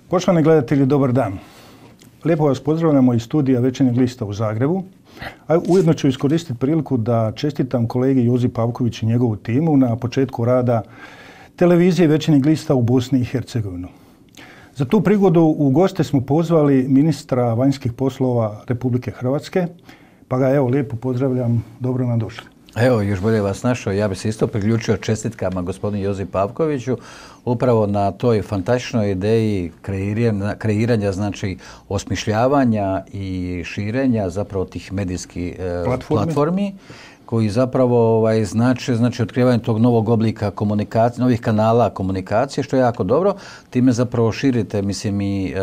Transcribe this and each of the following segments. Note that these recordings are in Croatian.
Poštovani gledatelji, dobar dan. Lijepo vas pozdravljamo iz studija Večernjeg lista u Zagrebu. A ujedno ću iskoristiti priliku da čestitam kolegi Jozi Pavković i njegovu timu na početku rada televizije Večernjeg lista u Bosni i Hercegovini. Za tu prigodu u goste smo pozvali ministra vanjskih poslova Republike Hrvatske, pa ga evo lijepo pozdravljam, dobro nam došli. Evo, još bolje vas našao. Ja bih se isto priključio čestitkama gospodinu Jozi Pavkoviću upravo na toj fantastičnoj ideji kreiranja, znači osmišljavanja i širenja zapravo tih medijskih platformi koji zapravo znači otkrivanje tog novog oblika komunikacije, novih kanala komunikacije, što je jako dobro. Time zapravo širite, mislim, i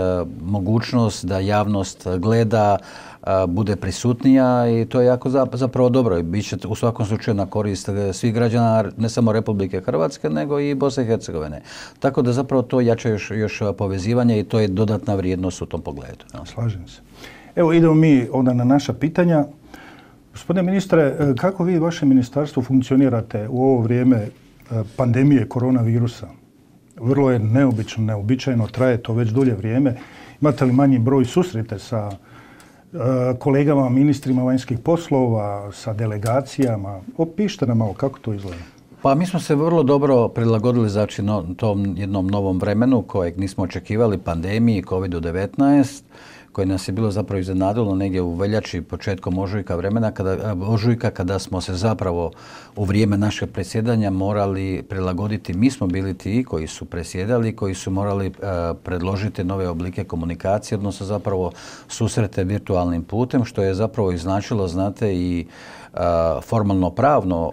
mogućnost da javnost gleda, bude prisutnija i to je jako zapravo dobro. Biće u svakom slučaju na korist svih građana, ne samo Republike Hrvatske, nego i Bosne i Hercegovine. Tako da zapravo to jača još povezivanje i to je dodatna vrijednost u tom pogledu. Slažem se. Evo idemo mi onda na naša pitanja. Gospodine ministre, kako vi i vaše ministarstvo funkcionirate u ovo vrijeme pandemije koronavirusa? Vrlo je neobičajno, traje to već dulje vrijeme. Imate li manji broj susrete sa kolegama, ministrima vanjskih poslova, sa delegacijama? Opišite nam malo kako to izgleda. Pa mi smo se vrlo dobro prilagodili znači tom jednom novom vremenu kojeg nismo očekivali, pandemiji, COVID-19, koje nas je bilo zapravo iznenadilo negdje u veljači, početkom ožujka kada smo se zapravo u vrijeme našeg predsjedanja morali prilagoditi. Mi smo bili ti koji su predsjedali, koji su morali predložiti nove oblike komunikacije, odnosno zapravo susrete virtualnim putem, što je zapravo i značilo, znate, i formalno pravno,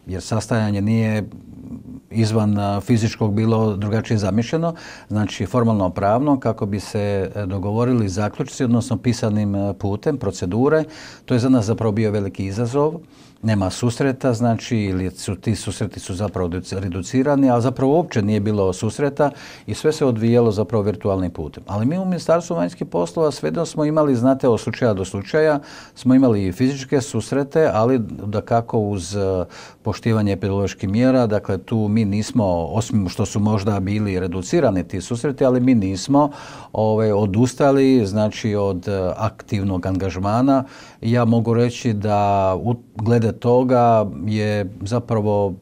jer sastajanje nije izvan fizičkog bilo drugačije zamišljeno, znači formalno pravno kako bi se dogovorili zaključci, odnosno pisanim putem, procedure. To je za nas zapravo bio veliki izazov. Nema susreta, znači, ili ti susreti su zapravo reducirani, ali zapravo uopće nije bilo susreta i sve se odvijalo zapravo virtualnim putem. Ali mi u Ministarstvu vanjskih poslova svejedno smo imali, znate, od slučaja do slučaja, smo imali i fizičke susrete, ali dakako uz poštivanje epidemioloških mjera, dakle tu mi nismo, osim što su možda bili reducirani ti susreti, ali mi nismo odustali, znači, od aktivnog angažmana. Ja mogu reći da glede toga je zapravo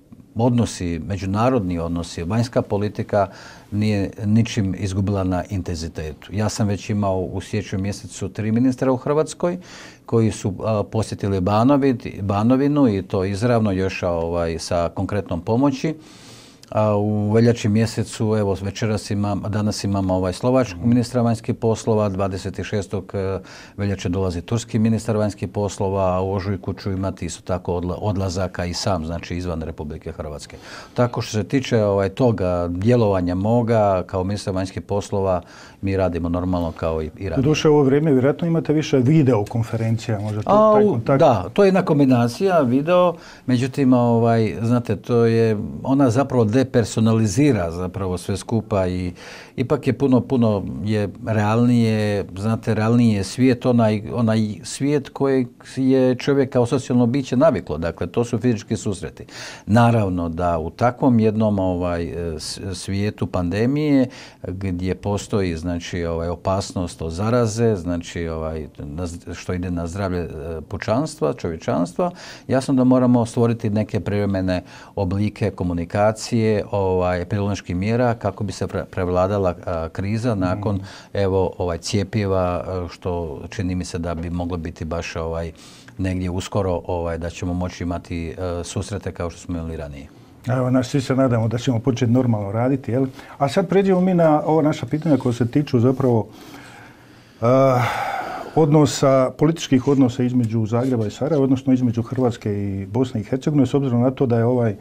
međunarodni odnosi, vanjska politika nije ničim izgubila na intenzitetu. Ja sam već imao u siječnju mjesecu 3 ministra u Hrvatskoj koji su posjetili Banovinu i to izravno još sa konkretnom pomoći. U veljači mjesecu, evo danas imamo slovačkog ministra vanjskih poslova, 26. veljače dolazi turski ministar vanjskih poslova, a u ožujku ću imati isto tako odlazaka i sam, znači izvan Republike Hrvatske. Tako što se tiče toga djelovanja moga kao ministra vanjskih poslova, mi radimo normalno kao i radimo. Doduše u ovo vrijeme vjerojatno imate više videokonferencija, možda taj kontakt? Da, to je jedna kombinacija video, međutim, znate, ona zapravo depersonalizira zapravo sve skupa i ipak je puno je realnije, znate, realniji je svijet, onaj svijet kojeg je čovjek kao socijalno biće naviklo, dakle to su fizički susreti. Naravno da u takvom jednom svijetu pandemije gdje postoji, znači, opasnost od zaraze, znači što ide na zdravlje pučanstva, čovječanstva, jasno da moramo stvoriti neke privremene oblike komunikacije, epidemioloških mjera kako bi se prevladala kriza nakon cjepiva, što čini mi se da bi moglo biti baš negdje uskoro da ćemo moći imati susrete kao što smo imali ranije. Evo, svi se nadamo da ćemo početi normalno raditi, jel? A sad pređemo mi na ova naša pitanja koja se tiču zapravo političkih odnosa između Zagreba i Sarajeva, odnosno između Hrvatske i Bosne i Hercegovine, s obzirom na to da je ovaj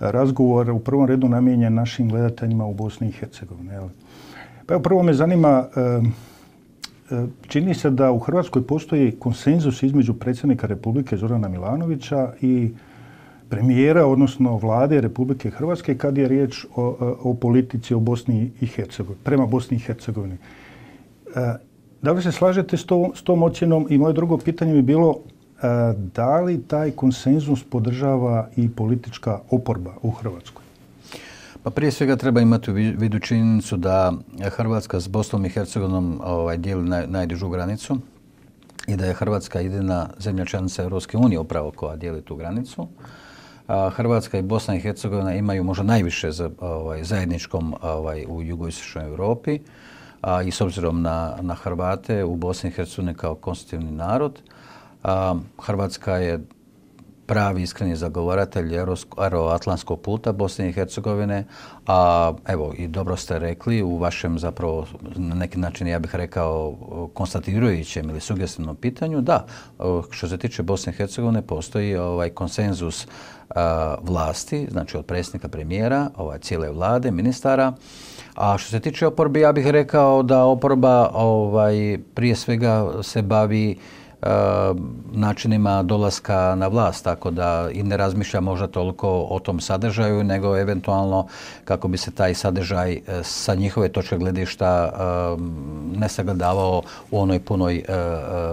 razgovor u prvom redu namijenjen našim gledateljima u Bosni i Hercegovini. Pa evo, prvo me zanima, čini se da u Hrvatskoj postoji konsenzus između predsjednika Republike Zorana Milanovića i premijera, odnosno vlade Republike Hrvatske kad je riječ o politici o Bosni i Hercegovini, prema Bosni i Hercegovini. Da li se slažete s tom ocjenom? I moje drugo pitanje bi bilo da li taj konsenzus podržava i politička oporba u Hrvatskoj? Pa prije svega treba imati u vidu činjenicu da Hrvatska s Bosnom i Hercegovinom dijeli najdužu granicu i da je Hrvatska jedina zemlja članica Europske unije upravo koja dijeli tu granicu. Hrvatska i Bosna i Hercegovina imaju možda najviše zajedničkom u jugoistočnoj Europi i s obzirom na Hrvate u Bosni i Hercegovini kao konstitutivni narod. Hrvatska je pravi iskreni zagovaratelj euroatlantskog puta Bosne i Hercegovine, a evo i dobro ste rekli u vašem zapravo na neki način ja bih rekao konstatirajućem ili sugestivnom pitanju, da, što se tiče Bosne i Hercegovine postoji konsenzus vlasti, znači od predsjednika premijera, cijele vlade, ministara. A što se tiče oporbe, ja bih rekao da oporba prije svega se bavi načinima dolaska na vlast, tako da i ne razmišlja možda toliko o tom sadržaju, nego eventualno kako bi se taj sadržaj sa njihove točke gledišta ne sagledavao u onoj punoj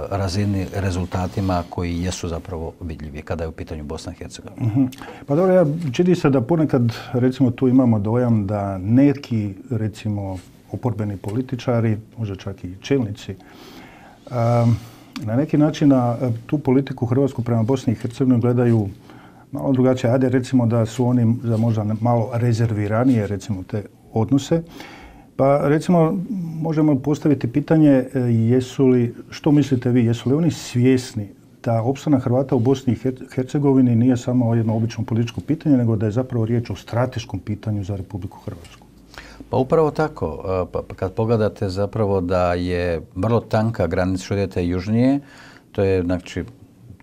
razini rezultatima koji jesu zapravo vidljivi kada je u pitanju Bosna i Hercegovina. Pa dobro, čini se da ponekad recimo tu imamo dojam da neki recimo oporbeni političari, možda čak i čelnici, na neki način na tu politiku Hrvatsku prema Bosni i Hercegovini gledaju malo drugačije. Ajde recimo da su oni za možda malo rezerviranije recimo te odnose. Pa recimo možemo postaviti pitanje što mislite vi, jesu li oni svjesni da opstanak Hrvata u Bosni i Hercegovini nije samo jedno obično političko pitanje, nego da je zapravo riječ o strateškom pitanju za Republiku Hrvatsku? Pa upravo tako. Kad pogledate zapravo da je vrlo tanka granica, što idete južnije, to je znači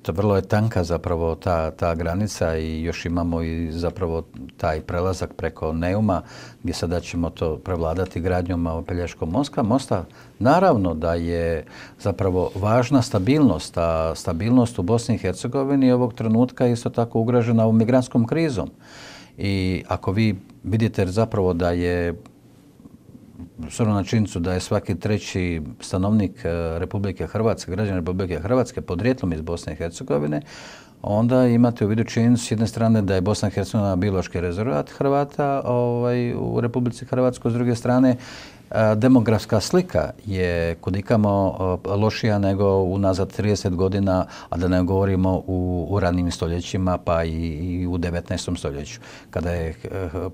vrlo je tanka zapravo ta granica i još imamo i zapravo taj prelazak preko Neuma gdje sada ćemo to prevladati gradnjom Pelješkog mosta. Naravno da je zapravo važna stabilnost, a stabilnost u Bosni i Hercegovini ovog trenutka je isto tako ugrožena ovom migrantskom krizom. I ako vi vidite zapravo da je s obzirom na činjenicu da je svaki treći stanovnik Republike Hrvatske, građan Republike Hrvatske podrijetlom iz Bosne i Hercegovine, onda imate u vidu činjenicu s jedne strane da je Bosna i Hercegovina biološki rezervat Hrvata u Republici Hrvatskoj, s druge strane demografska slika je kudikamo lošija nego unazad 30 godina, a da ne govorimo u ranim stoljećima pa i u 19. stoljeću, kada je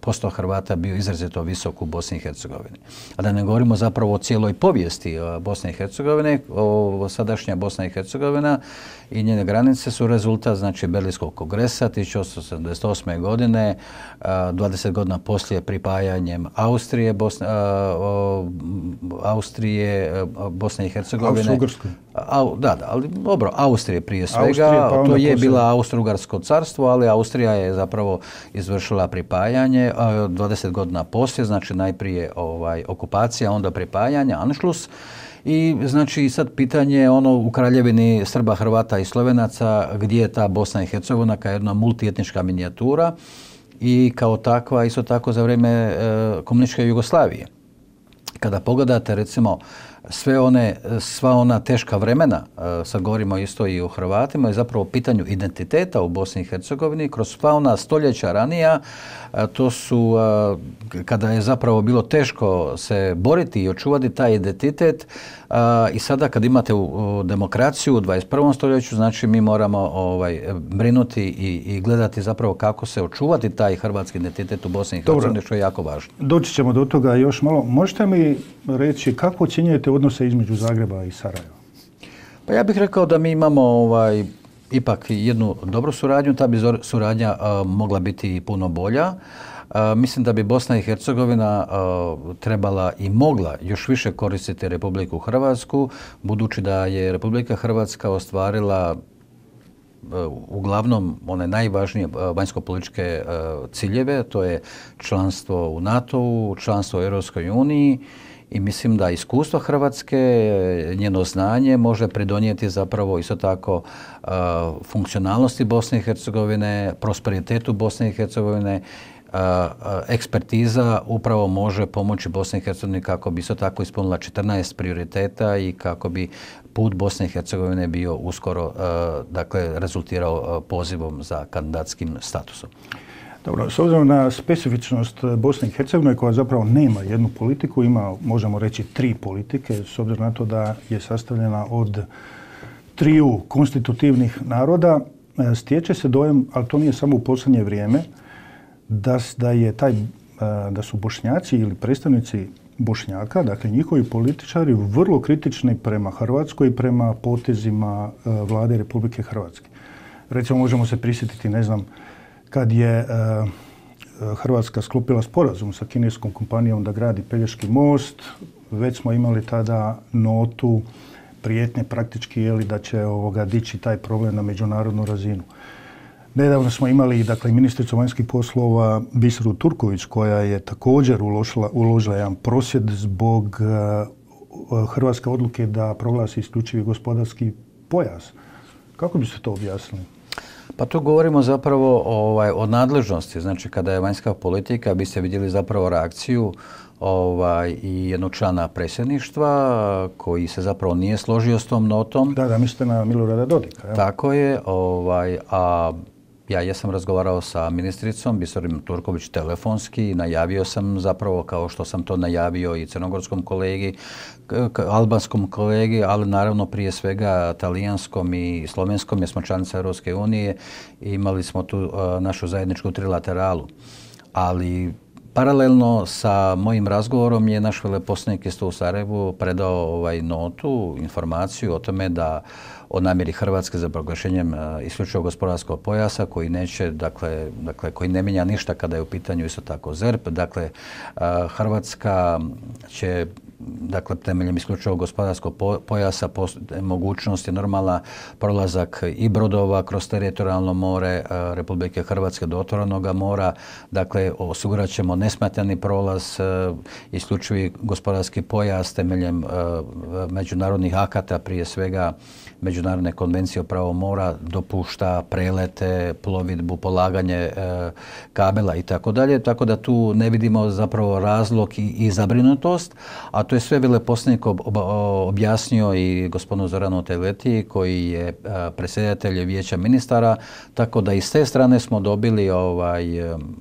posto Hrvata bio izrazito visok u Bosni i Hercegovini. A da ne govorimo zapravo o cijeloj povijesti Bosne i Hercegovine, sadašnja Bosna i Hercegovina i njene granice su rezultat znači Berlinskog kongresa 1878. godine, 20 godina poslije pripajanjem Bosne i Hercegovine. Austro-Ugarskoj. Da, ali dobro, Austrije prije svega. To je bila Austro-Ugarsko carstvo, ali Austrija je zapravo izvršila pripajanje 20 godina poslije, znači najprije okupacija, onda pripajanje, Anšlus. I znači sad pitanje u Kraljevini Srba, Hrvata i Slovenaca gdje je ta Bosna i Hercegovina kao jedna multietnička minijatura i kao takva isto tako za vrijeme komunističke Jugoslavije. Kada pogledate recimo sva ona teška vremena, sad govorimo isto i o Hrvatima, je zapravo pitanju identiteta u Bosni i Hercegovini kroz sva ona stoljeća ranija, to su kada je zapravo bilo teško se boriti i očuvati taj identitet i sada kad imate demokraciju u 21. stoljeću, znači mi moramo brinuti i gledati zapravo kako se očuvati taj hrvatski identitet u Bosni i Hercegovini, što je jako važno. Doći ćemo do toga još malo. Možete mi reći kako ocjenjujete odnose između Zagreba i Sarajeva? Pa ja bih rekao da mi imamo ipak jednu dobru suradnju, ta bi suradnja mogla biti puno bolja. Mislim da bi Bosna i Hercegovina trebala i mogla još više koristiti Republiku Hrvatsku, budući da je Republika Hrvatska ostvarila uglavnom one najvažnije vanjsko-političke ciljeve, to je članstvo u NATO-u, članstvo u Europskoj uniji. I mislim da iskustvo Hrvatske, njeno znanje može pridonijeti zapravo isto tako funkcionalnosti Bosne i Hercegovine, prosperitetu Bosne i Hercegovine. Ekspertiza upravo može pomoći Bosni i Hercegovini kako bi isto tako ispunila 14 prioriteta i kako bi put Bosne i Hercegovine bio uskoro, dakle, rezultirao pozivom za kandidatskim statusom. Dobro, s obzirom na specifičnost Bosne i Hercegovine koja zapravo nema jednu politiku, ima, možemo reći, 3 politike, s obzirom na to da je sastavljena od 3 konstitutivnih naroda, stječe se dojam, ali to nije samo u posljednje vrijeme, da su Bošnjaci ili predstavnici Bošnjaka, dakle njihovi političari, vrlo kritični prema Hrvatskoj i prema potezima vlade Republike Hrvatske. Recimo, možemo se prisjetiti, ne znam, kad je Hrvatska sklopila sporazum sa kineskom kompanijom da gradi Pelješki most, već smo imali tada notu prijetnje praktički da će dići taj problem na međunarodnu razinu. Nedavno smo imali ministricu vanjskih poslova Biseru Turković koja je također uložila jedan prosvjed zbog hrvatske odluke da proglasi isključivi gospodarski pojas. Kako bi se to objasnili? Pa tu govorimo zapravo o nadležnosti. Znači, kada je vanjska politika, biste vidjeli zapravo reakciju i jednog člana predsjedništva koji se zapravo nije složio s tom notom. Da, mislite na Milorada Dodika. Ja? Tako je. A ja jesam razgovarao sa ministricom Biserom Turković telefonski i najavio sam zapravo, kao što sam to najavio i crnogorskom kolegi, albanskom kolegi, ali naravno prije svega talijanskom i slovenskom, jer smo članica Europske unije i imali smo tu našu zajedničku trilateralu. Ali paralelno sa mojim razgovorom je naš veleposlanik isto u Sarajevu predao notu, informaciju o tome da o namjeri Hrvatske za proglašenjem isključivog gospodarskog pojasa koji neće, koji ne mijenja ništa kada je u pitanju isto tako ZERP. Dakle, Hrvatska će temeljem isključivog gospodarskog pojasa mogućnost je normalna prolazak i brodova kroz teritorijalno more Republike Hrvatske do otvorenoga mora. Dakle, osigurat ćemo nesmetani prolaz, isključivi gospodarski pojas temeljem međunarodnih akata, prije svega Međunarodne konvencije o pravu mora, dopušta prelete, plovidbu, polaganje kabela i tako dalje. Tako da tu ne vidimo zapravo razlog i zabrinutost, a to je sve veleposlanik objasnio i gospodinu Zoranu Teleti koji je predsjedatelj Vijeća ministara, tako da i s te strane smo dobili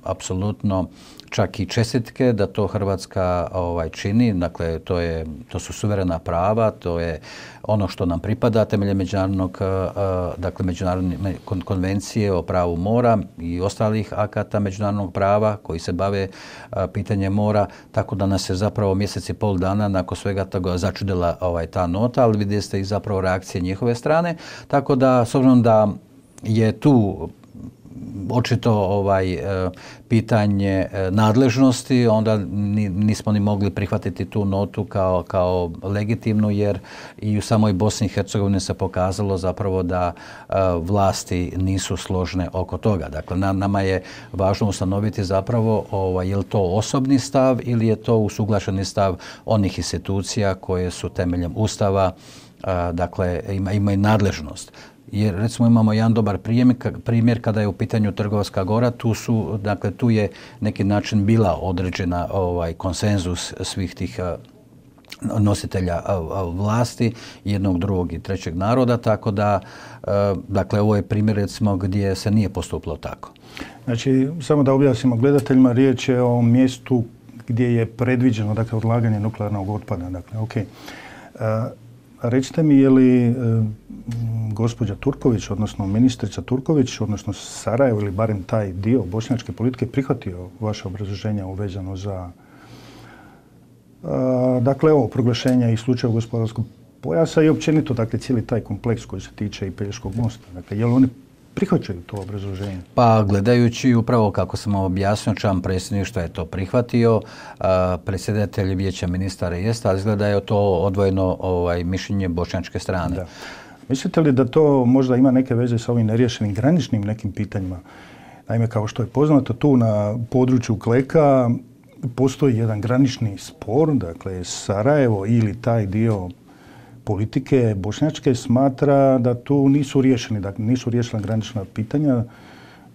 apsolutno čak i čestitke da to Hrvatska čini. Dakle, to su suverena prava, to je ono što nam pripada temeljem međunarodne konvencije o pravu mora i ostalih akata međunarodnog prava koji se bave pitanjem mora, tako da nas je zapravo mjesec i pol dana nakon svega toga začudila ta nota, ali vidjeli ste i zapravo reakcije njihove strane, tako da s obzirom da je tu očito pitanje nadležnosti, onda nismo ni mogli prihvatiti tu notu kao legitimnu, jer i u samoj Bosni i Hercegovini se pokazalo zapravo da vlasti nisu složne oko toga. Dakle, nama je važno ustanoviti zapravo je li to osobni stav ili je to usuglašeni stav onih institucija koje su temeljem Ustava, dakle, imaju nadležnost. Jer recimo imamo jedan dobar primjer kada je u pitanju Trgovska gora, tu je neki način bila određena konsenzus svih tih nositelja vlasti, jednog, drugog i trećeg naroda, tako da, dakle, ovo je primjer recimo gdje se nije postupilo tako. Znači, samo da objasnimo gledateljima, riječ je o mjestu gdje je predviđeno, dakle, odlaganje nuklearnog otpada. Dakle, okay. Recite mi, je li gospođa Turković, odnosno ministrica Turković, odnosno Sarajevo ili barem taj dio bošnjačke politike prihvatio vaše obrazloženja uvezano za proglašenje isključivog gospodarskog pojasa i općenito, dakle, cijeli taj kompleks koji se tiče i Pelješkog mosta. Dakle, je li oni prihvaćaju to obrazloženje? Pa gledajući upravo kako sam objasnio, član predsjedništva je to prihvatio, predsjedatelj Vijeća ministara jeste, ali izgleda je to odvojeno mišljenje bošnjačke strane. Da. Mislite li da to možda ima neke veze sa ovim neriješenim graničnim nekim pitanjima? Naime, kao što je poznato, tu na području Kleka postoji jedan granični spor, dakle Sarajevo ili taj dio politike bošnjačke smatra da tu nisu riješeni, dakle nisu riješena granična pitanja.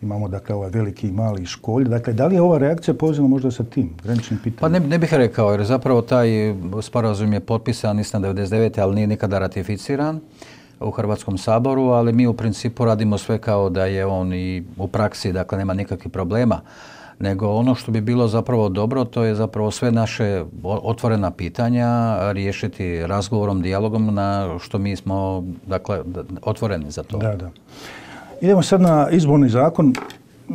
Imamo, dakle, ovaj veliki i mali školj. Dakle, da li je ova reakcija povezana možda sa tim graničnim pitanjem? Pa ne bih rekao, jer zapravo taj sporazum je potpisan, mislim, 1999. ali nije nikada ratificiran. u Hrvatskom saboru, ali mi u principu radimo sve kao da je on i u praksi, dakle nema nikakvih problema. Nego ono što bi bilo zapravo dobro, to je zapravo sve naše otvorena pitanja riješiti razgovorom, dijalogom, na što mi smo, dakle, otvoreni za to. Da. Idemo sad na izborni zakon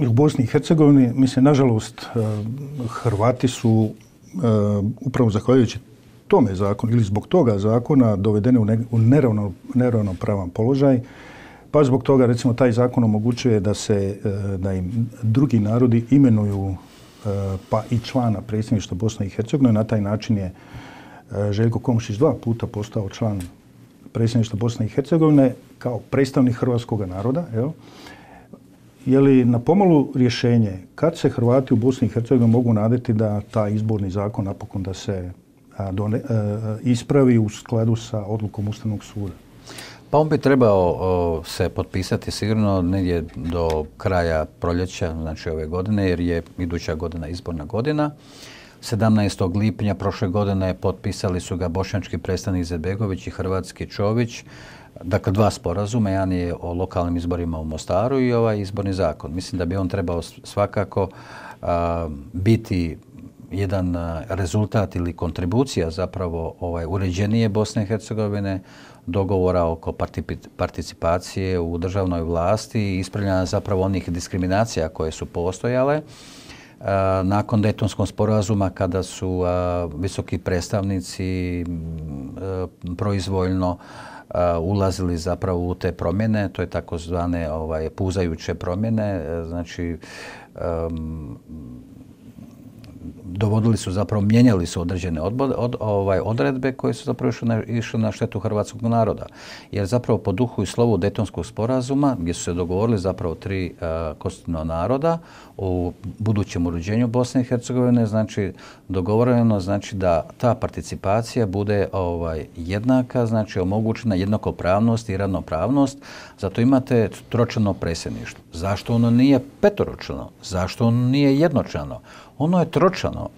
u Bosni i Hercegovini. Mislim, nažalost, Hrvati su upravo zahvaljujući tome zakonu ili zbog toga zakona dovedeni u neravnopravan položaj. Pa zbog toga, recimo, taj zakon omogućuje da im drugi narodi imenuju pa i člana predsjedništva Bosne i Hercegovine. Na taj način je Željko Komšić 2 puta postao član predsjedništva Bosne i Hercegovine kao predstavnik hrvatskog naroda. Je li na pomolu rješenje kad se Hrvati u Bosni i Hercegovini mogu nadati da taj izborni zakon napokon da se ispravi u skladu sa odlukom Ustavnog suda? Pa on bi trebao se potpisati sigurno negdje do kraja proljeća, znači ove godine, jer je iduća godina izborna godina. 17. lipnja prošle godine potpisali su ga bošnjački predstavnik Izetbegović i hrvatski Čović. Dakle, 2 sporazuma, jedan je o lokalnim izborima u Mostaru i ovaj izborni zakon. Mislim da bi on trebao svakako biti jedan rezultat ili kontribucija zapravo uređenije Bosne i Hercegovine, dogovora oko participacije u državnoj vlasti i ispravljanja zapravo onih diskriminacija koje su postojale. Nakon Dejtonskog sporazuma, kada su visoki predstavnici proizvoljno ulazili zapravo u te promjene, to je takozvane puzajuće promjene, znači dovodili su zapravo, mijenjali su određene odredbe koje su zapravo išle na štetu hrvatskog naroda. Jer zapravo po duhu i slovu Dejtonskog sporazuma, gdje su se dogovorili zapravo 3 konstitutivna naroda u budućem uređenju Bosne i Hercegovine, znači dogovoreno znači da ta participacija bude jednaka, znači omogućena jednakopravnost i ravnopravnost. Zato imate tročlano predsjedništvo. Zašto ono nije petoročlano? Zašto ono nije jednočlano? Ono je tročlano,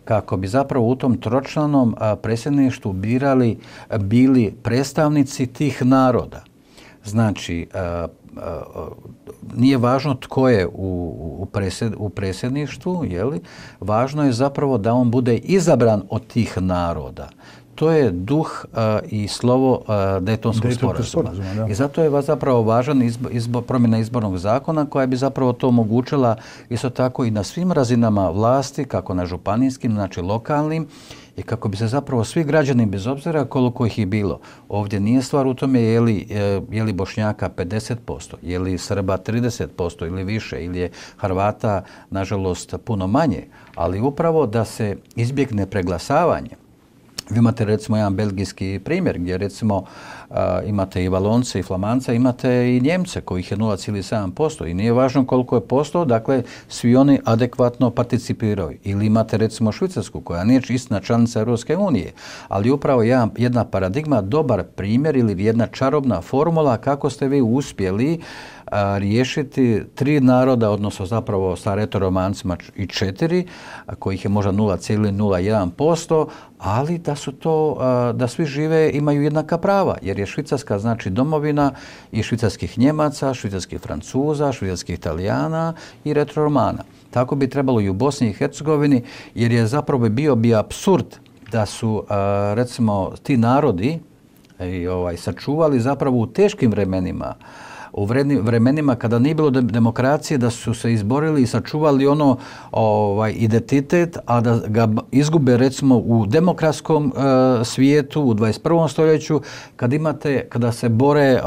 kako bi zapravo u tom tročlanom predsjedništvu bili predstavnici tih naroda. Znači, nije važno tko je u predsjedništvu, važno je zapravo da on bude izabran od tih naroda. To je duh i slovo Dejtonskog sporazuma. I zato je zapravo važan promjena izbornog zakona koja bi zapravo to omogućila isto tako i na svim razinama vlasti, kako na županijskim, znači lokalnim, i kako bi se zapravo svi građani, bez obzira koliko ih je bilo, ovdje nije stvar u tome je li Bošnjaka 50%, je li Srba 30% ili više, ili je Hrvata, nažalost, puno manje, ali upravo da se izbjegne preglasavanje. Vi imate recimo jedan belgijski primjer gdje recimo imate i Valonce i Flamance, imate i Njemce kojih je 0,7% i nije važno koliko je posto, dakle svi oni adekvatno participiraju. Ili imate recimo Švicarsku koja nije istina članica Europske unije, ali upravo jedna paradigma, dobar primjer ili jedna čarobna formula kako ste vi uspjeli riješiti 3 naroda, odnosno zapravo sa retoromancima i 4, kojih je možda 0,01%, ali da svi žive, imaju jednaka prava, jer je Švicarska znači domovina i švicarskih Njemaca, švicarskih Francuza, švicarskih Italijana i retroromana. Tako bi trebalo i u Bosni i Hercegovini, jer je zapravo bio apsurd da su recimo ti narodi sačuvali zapravo u teškim vremenima, u vremenima kada nije bilo demokracije, da su se izborili i sačuvali identitet, a da ga izgube recimo u demokratskom svijetu, u 21. stoljeću, kada se bore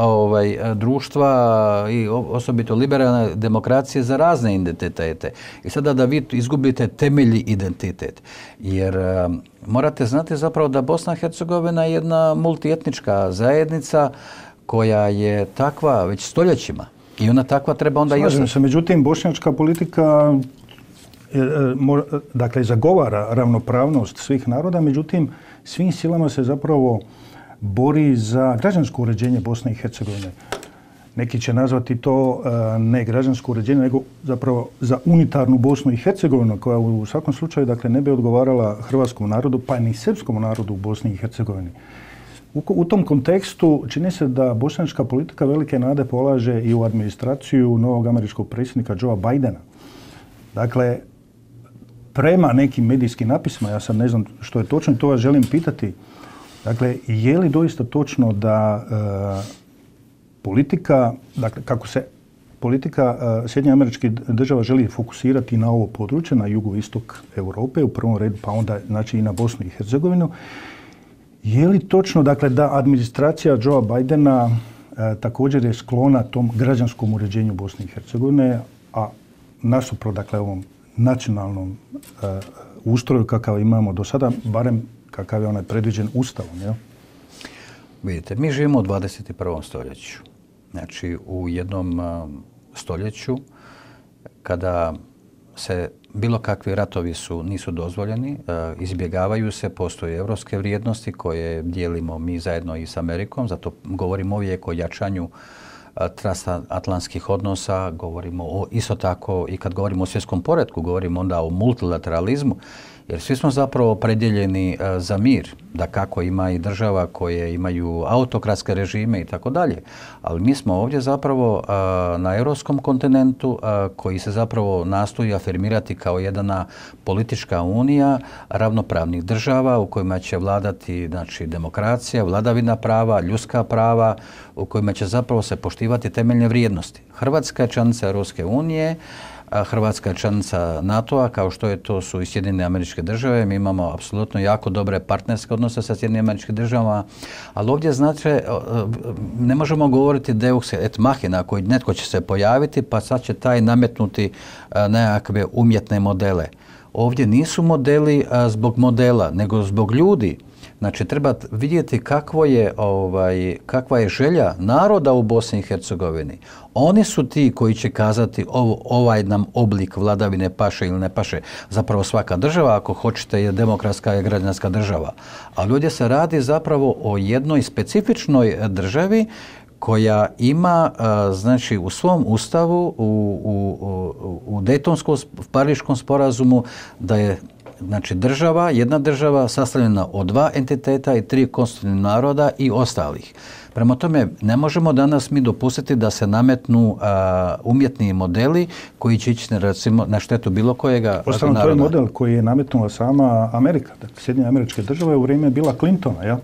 društva i osobito liberalne demokracije za razne identitete. I sada da vi izgubite temeljni identitet. Jer morate znati zapravo da Bosna i Hercegovina je jedna multietnička zajednica koja je takva već stoljećima i ona takva treba onda i ostati. Međutim, bošnjačka politika dakle zagovara ravnopravnost svih naroda, međutim svim silama se zapravo bori za građansko uređenje Bosne i Hercegovine. Neki će nazvati to ne građansko uređenje, nego zapravo za unitarnu Bosnu i Hercegovinu, koja u svakom slučaju dakle ne bi odgovarala hrvatskom narodu, pa ni srpskom narodu u Bosni i Hercegovini. U tom kontekstu čini se da bošnjačka politika velike nade polaže i u administraciju novog američkog predsjednika Joea Bidena. Dakle, prema nekim medijskim napisima, ja sad ne znam što je točno i to vas želim pitati, dakle, je li doista točno da politika, dakle, kako se politika Sjedinjenih Američkih Država želi fokusirati na ovo područje, na jugoistok Europe, u prvom redu, pa onda znači i na Bosnu i Hercegovinu. Je li točno, dakle, da administracija Joea Bidena također je sklona tom građanskom uređenju Bosne i Hercegovine, a nasuprot, dakle, ovom nacionalnom ustroju kakav imamo do sada, barem kakav je onaj predviđen Ustavom, jel? Vidite, mi živimo u 21. stoljeću. Znači, u jednom stoljeću kada se bilo kakvi ratovi nisu dozvoljeni, izbjegavaju se, postoje evropske vrijednosti koje dijelimo mi zajedno i s Amerikom, zato govorimo uvijek o jačanju transatlantskih odnosa, govorimo isto tako i kad govorimo o svjetskom poretku, govorimo onda o multilateralizmu, jer svi smo zapravo opredjeljeni za mir, da kako ima i država koje imaju autokratske režime i tako dalje. Ali mi smo ovdje zapravo na europskom kontinentu koji se zapravo nastoji afirmirati kao jedna politička unija ravnopravnih država u kojima će vladati, znači, demokracija, vladavina prava, ljudska prava, u kojima će zapravo se poštivati temeljne vrijednosti. Hrvatska je članica Europske unije, Hrvatska je članica NATO-a, kao što je to su i Sjedinjene Američke Države. Mi imamo apsolutno jako dobre partnerske odnose sa Sjedinjenim Američkim Državama, ali ovdje, znači, ne možemo govoriti Deus et machina, koji netko će se pojaviti pa sad će taj nametnuti nekakve umjetne modele. Ovdje nisu modeli zbog modela, nego zbog ljudi. Znači, treba vidjeti kakva je želja naroda u Bosni i Hercegovini. Oni su ti koji će kazati ovaj nam oblik vladavine paše ili ne paše. Zapravo svaka država, ako hoćete, je demokratska i građanska država. Ali ovdje se radi zapravo o jednoj specifičnoj državi koja ima, znači, u svom ustavu, u Dejtonskom Pariškom sporazumu, da je, znači, država, jedna država sastavljena od 2 entiteta i 3 konstitutivnih naroda i ostalih. Prema tome, ne možemo danas mi dopustiti da se nametnu umjetni modeli koji će ići, recimo, na štetu bilo kojega naroda. Uostalom, to je model koji je nametnula sama Amerika, dakle, Sjedinjene Američke Države u vrijeme Billa Clintona, jel?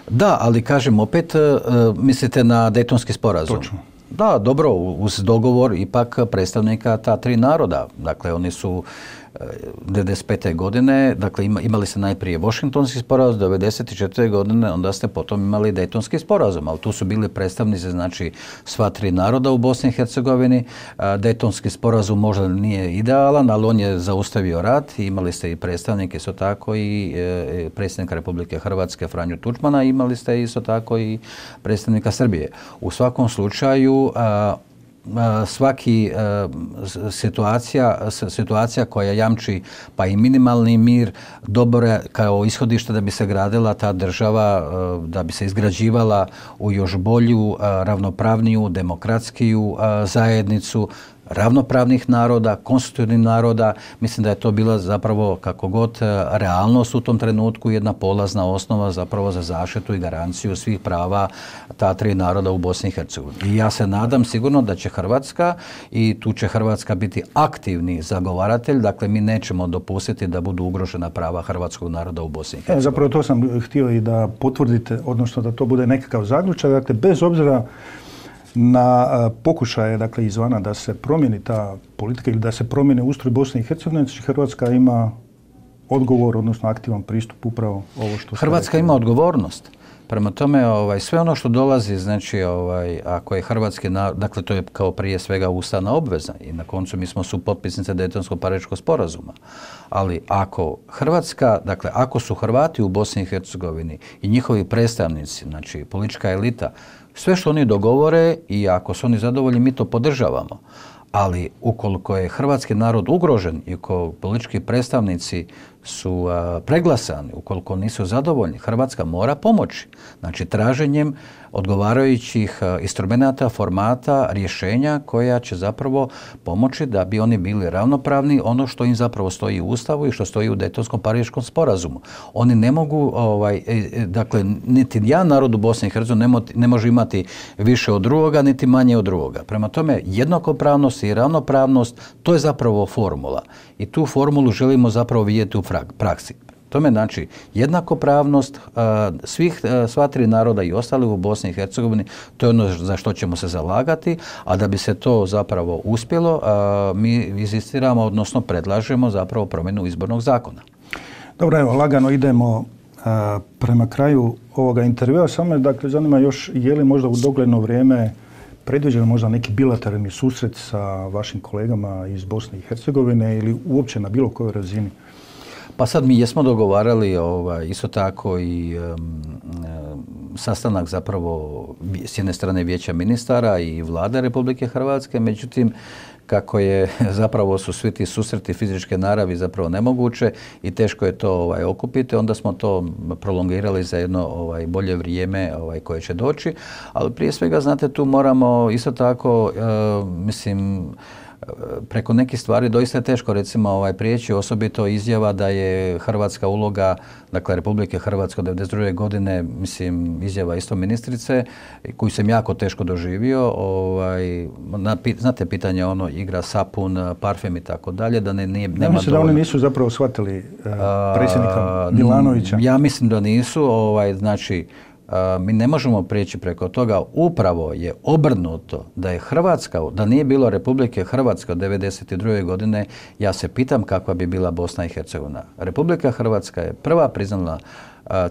Da, ali kažem, opet mislite na Dejtonski sporazum. Točno. Da, dobro, uz dogovor ipak predstavnika ta 3 naroda. Dakle, oni su 1995. godine, dakle, imali ste najprije Washingtonski sporazum, 1994. godine, onda ste potom imali Dejtonski sporazum, ali tu su bili predstavnici, znači, sva 3 naroda u Bosni i Hercegovini. Dejtonski sporazum možda nije idealan, ali on je zaustavio rat. Imali ste i predstavnike, isto tako, i predsjednika Republike Hrvatske Franju Tuđmana, imali ste isto tako i predstavnika Srbije. U svakom slučaju, svaki situacija koja jamči pa i minimalni mir dobro kao ishodište da bi se gradila ta država, da bi se izgrađivala u još bolju, ravnopravniju, demokratskiju zajednicu ravnopravnih naroda, konstitutivnih naroda. Mislim da je to bila zapravo, kako god, realnost u tom trenutku, jedna polazna osnova zapravo za zaštitu i garanciju svih prava ta 3 naroda u Bosni i Hercegovini. I ja se nadam sigurno da će Hrvatska, i tu će Hrvatska biti aktivni zagovaratelj, dakle, mi nećemo dopustiti da budu ugrožena prava hrvatskog naroda u Bosni i Hercegovini. Zapravo to sam htio i da potvrdite, odnosno da to bude nekakav zaključak, dakle, bez obzira na pokušaje, dakle, izvana da se promijeni ta politika ili da se promijeni ustroj Bosne i Hercegovine, Hrvatska ima odgovor, odnosno aktivan pristup upravo ovo što ste Hrvatska rekli. ima odgovornost. Prema tome, sve ono što dolazi, znači, ako je hrvatski narod, dakle, to je kao prije svega ustavna obveza i na koncu mi smo supotpisnice Dejtonskog Pariškog sporazuma. Ali ako Hrvatska, dakle, ako su Hrvati u Bosni i Hercegovini i njihovi predstavnici, znači, politička elita, sve što oni dogovore i ako su oni zadovoljni, mi to podržavamo. Ali ukoliko je hrvatski narod ugrožen i ukoliko politički predstavnici su preglasani, ukoliko nisu zadovoljni, Hrvatska mora pomoći. Znači, traženjem odgovarajućih instrumenata, formata, rješenja koja će zapravo pomoći da bi oni bili ravnopravni, ono što im zapravo stoji u Ustavu i što stoji u Dejtonskom Pariškom sporazumu. Oni ne mogu, dakle, niti jedan narod u Bosni i Hercegovini ne može imati više od drugoga, niti manje od drugoga. Prema tome, jednakopravnost i ravnopravnost, to je zapravo formula. I tu formulu želimo zapravo vidjeti u praksi. Tome znači jednakopravnost sva tri naroda i ostali u Bosni i Hercegovini, to je ono za što ćemo se zalagati, a da bi se to zapravo uspjelo, mi inzistiramo, odnosno predlažemo zapravo promjenu izbornog zakona. Dobro, evo, lagano idemo prema kraju ovoga intervjua. Samo me, dakle, zanima još, je li možda u dogledno vrijeme predviđen možda neki bilateralni susret sa vašim kolegama iz Bosne i Hercegovine ili uopće na bilo kojoj razini? Pa sad mi jesmo dogovarali isto tako i sastanak zapravo s jedne strane Vijeća ministara i Vlade Republike Hrvatske, međutim kako je zapravo su svi ti susreti fizičke naravi zapravo nemoguće i teško je to okupiti, onda smo to prolongirali za jedno bolje vrijeme koje će doći, ali prije svega znate tu moramo isto tako mislim preko nekih stvari doista je teško recimo prijeći, osobito izjava da je hrvatska uloga, dakle Republike Hrvatske od 1992. godine, mislim izjava isto ministrice, koju sam jako teško doživio, znate pitanje ono igra sapun, parfem i tako dalje, da nema mislim da oni nisu zapravo shvatili predsjednika Milanovića. Ja mislim da nisu, znači mi ne možemo prijeći preko toga, upravo je obrnuto da je Hrvatska, da nije bilo Republike Hrvatske od 1992. godine, ja se pitam kakva bi bila Bosna i Hercegovina. Republika Hrvatska je prva priznala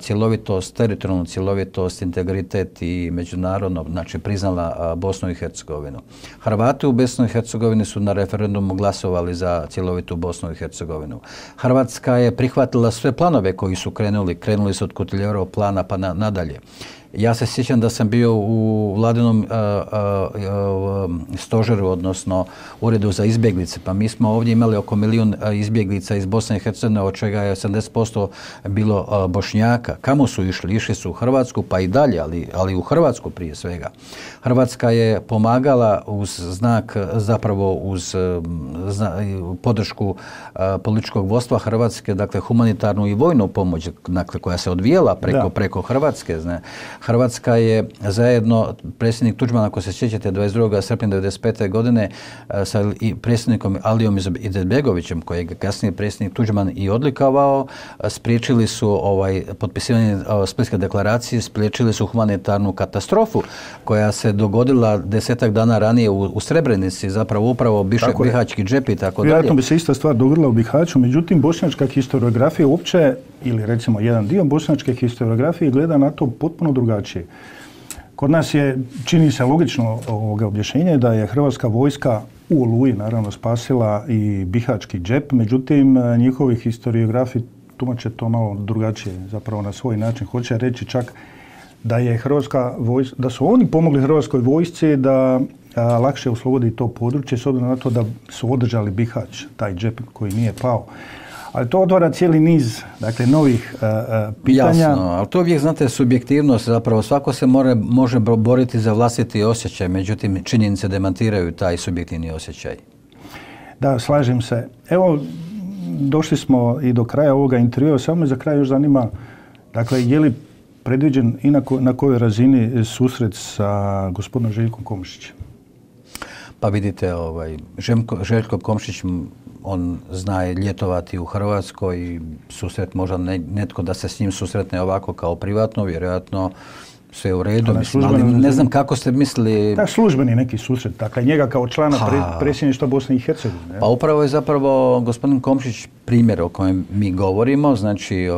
cjelovitost, teritorijalnu cjelovitost, integritet i međunarodno, znači priznala Bosnu i Hercegovinu. Hrvati u Bosni i Hercegovini su na referendumu glasovali za cjelovitu Bosnu i Hercegovinu. Hrvatska je prihvatila sve planove koji su krenuli su od Kutiljerovog plana pa nadalje. Ja se sjećam da sam bio u vladinom stožeru, odnosno uredu za izbjeglice, pa mi smo ovdje imali oko 1 milijun izbjeglica iz Bosne i Hercegovine, od čega je 80% bilo Bošnjaka. Kamo su išli? Išli su u Hrvatsku, pa i dalje, ali u Hrvatsku prije svega. Hrvatska je pomagala uz znak, zapravo uz podršku političkog vodstva Hrvatske, dakle humanitarnu i vojnu pomoć, dakle, koja se odvijela preko Hrvatske. Hrvatska je zajedno, predsjednik Tuđman, ako se sjećate, 22. srpnja 1995. godine sa predsjednikom Alijom Izetbegovićem, kojeg je kasnije predsjednik Tuđman i odlikovao, spriječili su potpisivanje Splitske deklaracije, spriječili su humanitarnu katastrofu koja se dogodila 10-ak dana ranije u Srebrenici, zapravo upravo Bihaćki džep i tako dalje. Vjerojatno bi se ista stvar dogodila u Bihaću, međutim bošnjačka historiografija uopće, ili recimo jedan dio bošnjačke historiografije gleda na to potpuno drugačije. Kod nas je, čini se logično objašnjenje da je hrvatska vojska u Oluji naravno spasila i Bihaćki džep, međutim njihovi historiografi tumače to malo drugačije, zapravo na svoj način. Hoće reći čak da je da su oni pomogli hrvatskoj vojsci da lakše oslobodi to područje s obzirom na to da su održali Bihać, taj džep koji nije pao. Ali to otvara cijeli niz, dakle, novih pitanja. Jasno, ali to uvijek, znate, subjektivnost, zapravo svako se može boriti za vlastiti osjećaj, međutim, činjenice demantiraju taj subjektivni osjećaj. Da, slažem se. Evo, došli smo i do kraja ovoga intervjua, samo me za kraj još zanima, dakle, je li predviđen i na kojoj razini susret sa gospodinom Željkom Komšićem? Pa vidite, Željko Komšić, on zna ljetovati u Hrvatskoj i susret možda netko da se s njim susretne ovako kao privatno, vjerojatno sve u redu, ali ne znam kako ste mislili... Da, službeni neki susret, dakle njega kao člana predsjedništva Bosne i Hercegovine. Pa upravo je zapravo gospodin Komšić primjer o kojem mi govorimo, znači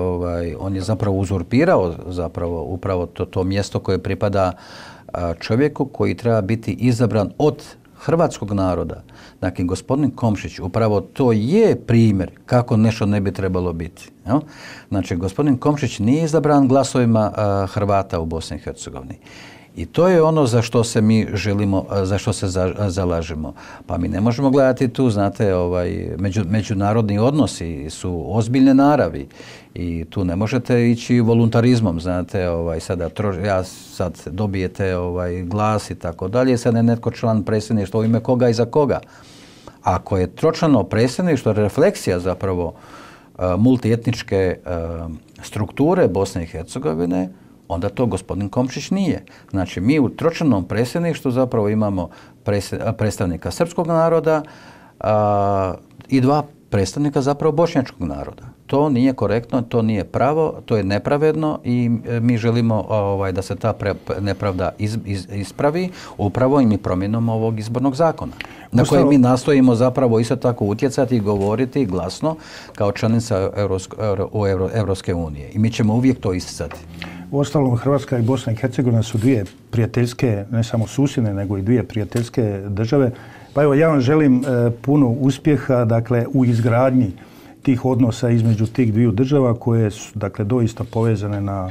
on je zapravo uzurpirao zapravo upravo to mjesto koje pripada čovjeku koji treba biti izabran od hrvatskog naroda. Dakle, gospodin Komšić, upravo to je primjer kako nešto ne bi trebalo biti. Ja? Znači, gospodin Komšić nije izabran glasovima Hrvata u Bosni i Hercegovini. I to je ono za što se mi želimo, za što se zalažemo. Pa mi ne možemo gledati tu, znate, međunarodni odnosi su ozbiljne naravi i tu ne možete ići voluntarizmom, znate, sad dobijete glas i tako dalje, sad je netko član predsjedništva u ime koga i za koga. Ako je tročlano predsjedništvo refleksija zapravo multietničke strukture Bosne i Hercegovine, onda to gospodin Komšić nije. Znači, mi u tročlanom predsjedništvu zapravo imamo predstavnika srpskog naroda i 2 predstavnika zapravo bošnjačkog naroda. To nije korektno, to nije pravo, to je nepravedno i mi želimo da se ta nepravda ispravi upravo i promjenom ovog izbornog zakona. Na koje mi nastojimo zapravo isto tako utjecati i govoriti glasno kao članica Europske unije. I mi ćemo uvijek to isticati. Uostalom, Hrvatska i Bosna i Hercegovina su 2 prijateljske, ne samo susjedne, nego i 2 prijateljske države. Pa evo, ja vam želim puno uspjeha, dakle, u izgradnji tih odnosa između tih 2 država koje su, dakle, doista povezane na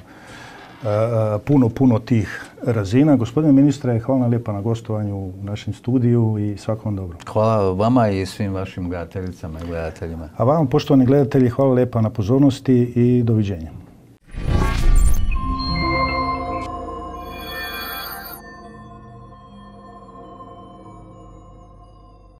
puno tih razina. Gospodine ministre, hvala vam lijepa na gostovanju u našem studiju i svakom dobro. Hvala vama i svim vašim gledateljicama i gledateljima. A vam, poštovani gledatelji, hvala lijepa na pozornosti i doviđenja.